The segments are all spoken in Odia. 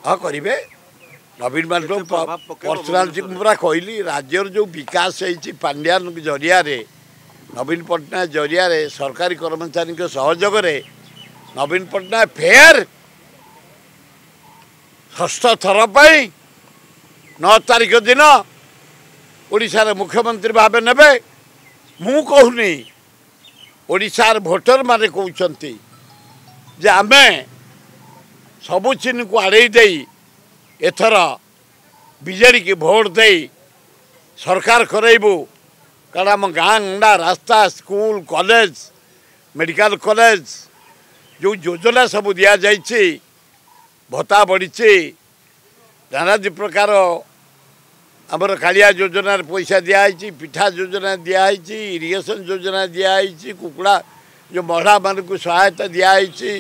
ହଁ କରିବେ। ନବୀନ ପଟ୍ଟନାୟକ ପର୍ସନାଲିଟି ମୁଁ ପୁରା କହିଲି, ରାଜ୍ୟର ଯେଉଁ ବିକାଶ ହେଇଛି ପାଣ୍ଡିଆନ ଜରିଆରେ, ନବୀନ ପଟ୍ଟନାୟକ ଜରିଆରେ, ସରକାରୀ କର୍ମଚାରୀଙ୍କ ସହଯୋଗରେ ନବୀନ ପଟ୍ଟନାୟକ ଫେର ଷଷ୍ଠ ଥର ପାଇଁ 9 ତାରିଖ ଦିନ ଓଡ଼ିଶାର ମୁଖ୍ୟମନ୍ତ୍ରୀ ଭାବେ ନେବେ। ମୁଁ କହୁନି, ଓଡ଼ିଶାର ଭୋଟରମାନେ କହୁଛନ୍ତି ଯେ ଆମେ ସବୁ ଚିହ୍ନକୁ ଆଡ଼େଇ ଦେଇ ଏଥର ବିଜେଡ଼ିକି ଭୋଟ ଦେଇ ସରକାର କରାଇବୁ। କାରଣ ଆମ ଗାଁ ଗଣ୍ଡା ରାସ୍ତା, ସ୍କୁଲ, କଲେଜ, ମେଡ଼ିକାଲ କଲେଜ ଯେଉଁ ଯୋଜନା ସବୁ ଦିଆଯାଇଛି, ଭତ୍ତା ବଢ଼ିଛି, ନାନାଦି ପ୍ରକାର ଆମର କାଳିଆ ଯୋଜନାରେ ପଇସା ଦିଆହେଇଛି, ପିଠା ଯୋଜନା ଦିଆହେଇଛି, ଇରିଗେସନ୍ ଯୋଜନା ଦିଆହେଇଛି, କୁକୁଡ଼ା ଯେଉଁ ମହିଳାମାନଙ୍କୁ ସହାୟତା ଦିଆହେଇଛି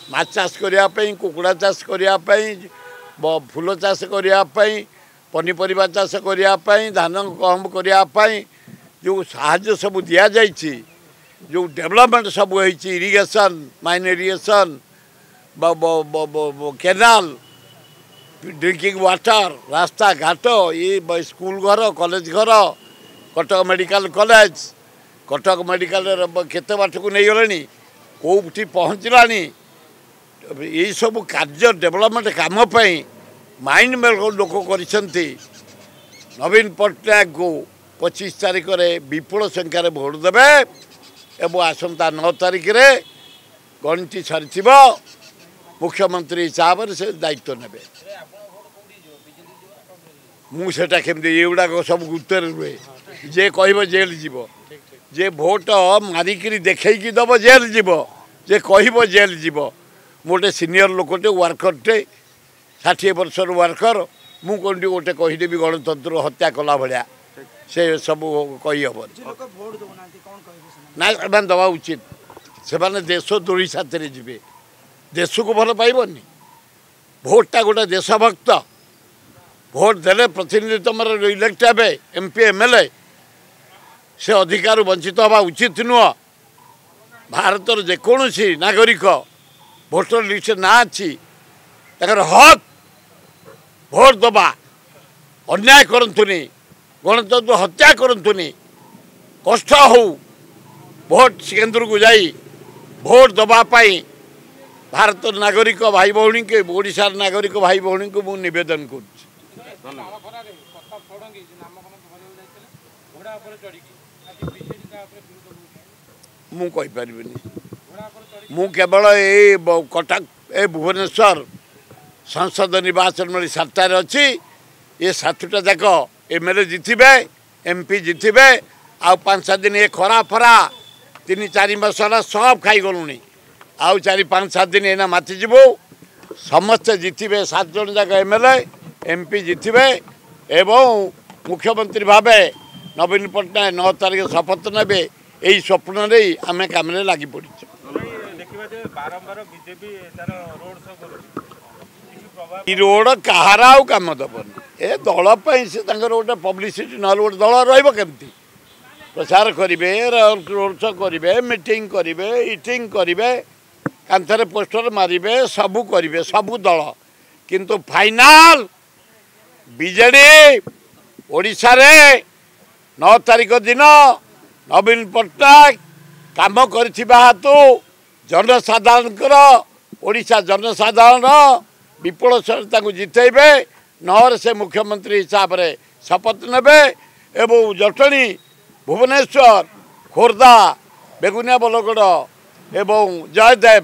ମାଛ ଚାଷ କରିବା ପାଇଁ, କୁକୁଡ଼ା ଚାଷ କରିବା ପାଇଁ, ଫୁଲ ଚାଷ କରିବା ପାଇଁ, ପନିପରିବା ଚାଷ କରିବା ପାଇଁ, ଧାନ ଗହମ କରିବା ପାଇଁ ଯେଉଁ ସାହାଯ୍ୟ ସବୁ ଦିଆଯାଇଛି, ଯେଉଁ ଡେଭଲପମେଣ୍ଟ ସବୁ ହେଇଛି, irrigation, minor irrigation, canal, drinking water, ରାସ୍ତାଘାଟ, ଏ ସ୍କୁଲ ଘର, କଲେଜ ଘର, କଟକ ମେଡ଼ିକାଲ କଲେଜ, କଟକ ମେଡ଼ିକାଲର କେତେ ବାଟକୁ ନେଇଗଲେଣି, କେଉଁଠି ପହଞ୍ଚିଲାଣି, ଏଇସବୁ କାର୍ଯ୍ୟ ଡେଭଲପମେଣ୍ଟ କାମ ପାଇଁ ମାଇଣ୍ଡ ଲୋକ କରିଛନ୍ତି। ନବୀନ ପଟ୍ଟନାୟକଙ୍କୁ 25 ତାରିଖରେ ବିପୁଳ ସଂଖ୍ୟାରେ ଭୋଟ ଦେବେ ଏବଂ ଆସନ୍ତା 9 ତାରିଖରେ ଗଣତି ସରିଥିବ, ମୁଖ୍ୟମନ୍ତ୍ରୀ ହିସାବରେ ସେ ଦାୟିତ୍ୱ ନେବେ। ମୁଁ ସେଟା କେମିତି, ଏଗୁଡ଼ାକ ସବୁ ଗୁପ୍ତରେ ରୁହେ। ଯିଏ କହିବ ଜେଲ୍ ଯିବ, ଯିଏ ଭୋଟ ମାରିକିରି ଦେଖେଇକି ଦେବ ଜେଲ୍ ଯିବ, ଯିଏ କହିବ ଜେଲ୍ ଯିବ। ମୁଁ ଗୋଟେ ସିନିୟର ଲୋକଟେ, ୱାର୍କରଟେ, 60 ବର୍ଷର ୱାର୍କର, ମୁଁ କେଉଁଠି ଗୋଟେ କହିଦେବି ଗଣତନ୍ତ୍ର ହତ୍ୟା କଲା ଭଳିଆ, ସେ ସବୁ କହିହେବନି ନା। ସେମାନେ ଦେବା ଉଚିତ, ସେମାନେ ଦେଶଦ୍ରୋହୀ ସାଥିରେ ଯିବେ, ଦେଶକୁ ଭଲ ପାଇବନି। ଭୋଟଟା ଗୋଟେ ଦେଶଭକ୍ତ, ଭୋଟ ଦେଲେ ପ୍ରତିନିଧି ତୁମର ଇଲେକ୍ଟ ହେବେ, M P, M L A, ସେ ଅଧିକାରରୁ ବଞ୍ଚିତ ହେବା ଉଚିତ ନୁହଁ। ଭାରତର ଯେକୌଣସି ନାଗରିକ ଭୋଟର ଲିଷ୍ଟରେ ନାଁ ଅଛି, ତାଙ୍କର ହକ୍ ଭୋଟ ଦେବା। ଅନ୍ୟାୟ କରନ୍ତୁନି, ଗଣତନ୍ତ୍ର ହତ୍ୟା କରନ୍ତୁନି, କଷ୍ଟ ହଉ ଭୋଟ କେନ୍ଦ୍ରକୁ ଯାଇ ଭୋଟ ଦେବା ପାଇଁ ଭାରତର ନାଗରିକ ଭାଇ ଭଉଣୀଙ୍କୁ, ଓଡ଼ିଶାର ନାଗରିକ ଭାଇ ଭଉଣୀଙ୍କୁ ମୁଁ ନିବେଦନ କରୁଛି। ମୁଁ କହିପାରିବିନି, ମୁଁ କେବଳ ଏଇ କଟକ, ଏ ଭୁବନେଶ୍ୱର ସଂସଦ ନିର୍ବାଚନ ମଣ୍ଡଳୀ 7ଟାରେ ଅଛି, ଏ 7ଟା ଯାକ ଏମ୍ ଏଲ୍ ଏ ଜିତିବେ, ଏମ୍ ପି ଜିତିବେ। ଆଉ 5 7 ଦିନ ଏ ଖରା ଫରା 3 4 ମାସ ହେଲା ସବୁ ଖାଇଗଲୁଣି, ଆଉ 4 5 7 ଦିନ ଏଇନା ମାତିଯିବୁ। ସମସ୍ତେ ଜିତିବେ, 7 ଜଣ ଯାକ M L A, M P ଜିତିବେ ଏବଂ ମୁଖ୍ୟମନ୍ତ୍ରୀ ଭାବେ ନବୀନ ପଟ୍ଟନାୟକ 9 ତାରିଖ ଶପଥ ନେବେ। ଏଇ ସ୍ୱପ୍ନ ନେଇ ଆମେ କାମରେ ଲାଗି ପଡ଼ିଛୁ। ରୋଡ଼ କାହାର ଆଉ କାମ ଦେବନି, ଏ ଦଳ ପାଇଁ ସେ ତାଙ୍କର ଗୋଟେ ପବ୍ଲିସିଟି, ନହେଲେ ଗୋଟେ ଦଳ ରହିବ କେମିତି? ପ୍ରଚାର କରିବେ, ରୋଡ଼ ଶୋ କରିବେ, ମିଟିଂ କରିବେ, ଇଟିଂ କରିବେ, କାନ୍ଥରେ ପୋଷ୍ଟର ମାରିବେ, ସବୁ କରିବେ ସବୁ ଦଳ। କିନ୍ତୁ ଫାଇନାଲ ବିଜେଡ଼ି ଓଡ଼ିଶାରେ 9 ତାରିଖ ଦିନ ନବୀନ ପଟ୍ଟନାୟକ କାମ କରିଥିବା ହେତୁ ଜନସାଧାରଣଙ୍କର, ଓଡ଼ିଶା ଜନସାଧାରଣ ବିପୁଳ ତାଙ୍କୁ ଜିତେଇବେ। 9ରେ ସେ ମୁଖ୍ୟମନ୍ତ୍ରୀ ହିସାବରେ ଶପଥ ନେବେ ଏବଂ ଜଟଣୀ, ଭୁବନେଶ୍ୱର, ଖୋର୍ଦ୍ଧା, ବେଗୁନିଆ, ବଲଗଡ଼ ଏବଂ ଜୟଦେବ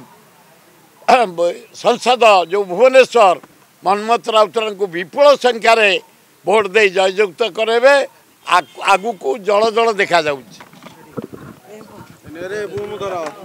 ସଂସଦ ଯେଉଁ ଭୁବନେଶ୍ୱର, ମନ୍ମଥ ରାଉତରାଙ୍କୁ ବିପୁଳ ସଂଖ୍ୟାରେ ଭୋଟ ଦେଇ ଜୟଯୁକ୍ତ କରାଇବେ। ଆଗକୁ ଜଳ ଜଳ ଦେଖାଯାଉଛି।